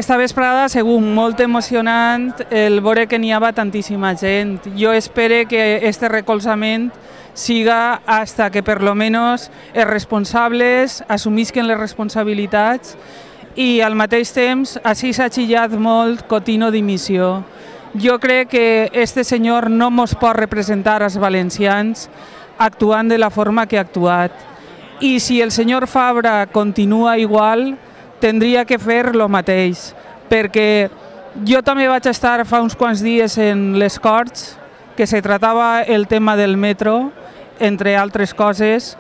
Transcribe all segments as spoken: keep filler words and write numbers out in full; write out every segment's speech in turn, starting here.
Esta vesprada ha sigut molt emocionant el veure que n'hi havia tantíssima gent. Jo espero que este recolzament siga hasta que per lo menos els responsables assumisquen les responsabilitats i al mateix temps així s'ha xillat molt Cotino dimissió. Jo crec que este senyor no mos pot representar als valencians actuant de la forma que ha actuat. I si el senyor Fabra continua igual, tindria que fer el mateix, perquè jo també vaig estar fa uns quants dies en les Corts, que se tratava el tema del metro, entre altres coses,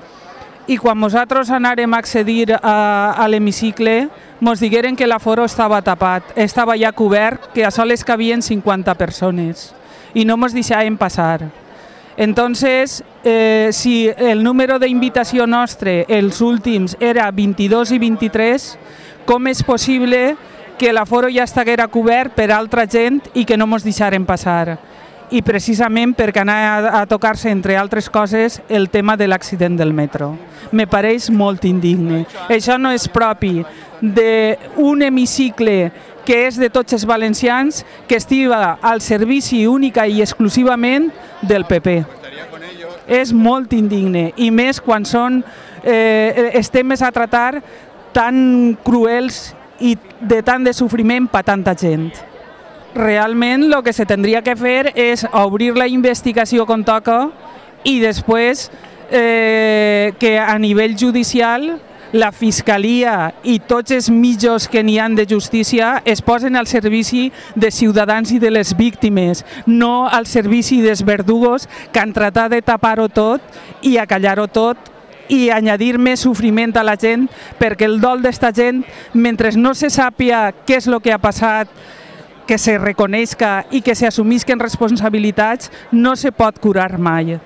i quan nosaltres anàrem a accedir a, a l'hemicicle, ens digueren que l'aforo estava tapat, estava ja cobert, que a soles cabien cinquanta persones, i no ens deixaven passar. Entonces, eh, si el número d'invitació nostre, els últims, era vint-i-dos i vint-i-tres, com és possible que l'aforo ja estiguera cobert per altra gent i que no ens deixaren passar? I precisament perquè anava a tocar-se, entre altres coses, el tema de l'accident del metro. Me pareix molt indigne. Això no és propi d'un hemicicle que és de tots els valencians, que estiva al servici única i exclusivament del P P. És molt indigne, i més quan són eh, els temes a tratar tan cruels i de tant de sofriment per tanta gent. Realment el que se tindria que fer és obrir la investigació com toca i després eh, que a nivell judicial la Fiscalia i tots els mitjans que n'hi ha de justícia es posen al servici de ciutadans i de les víctimes, no al servici dels verdugos que han tratat de tapar-ho tot i acallar-ho tot i añadir més sofriment a la gent, perquè el dol d'esta gent, mentre no se sàpia què és el que ha passat, que se reconeixca i que s'assumisquen responsabilitats, no se pot curar mai.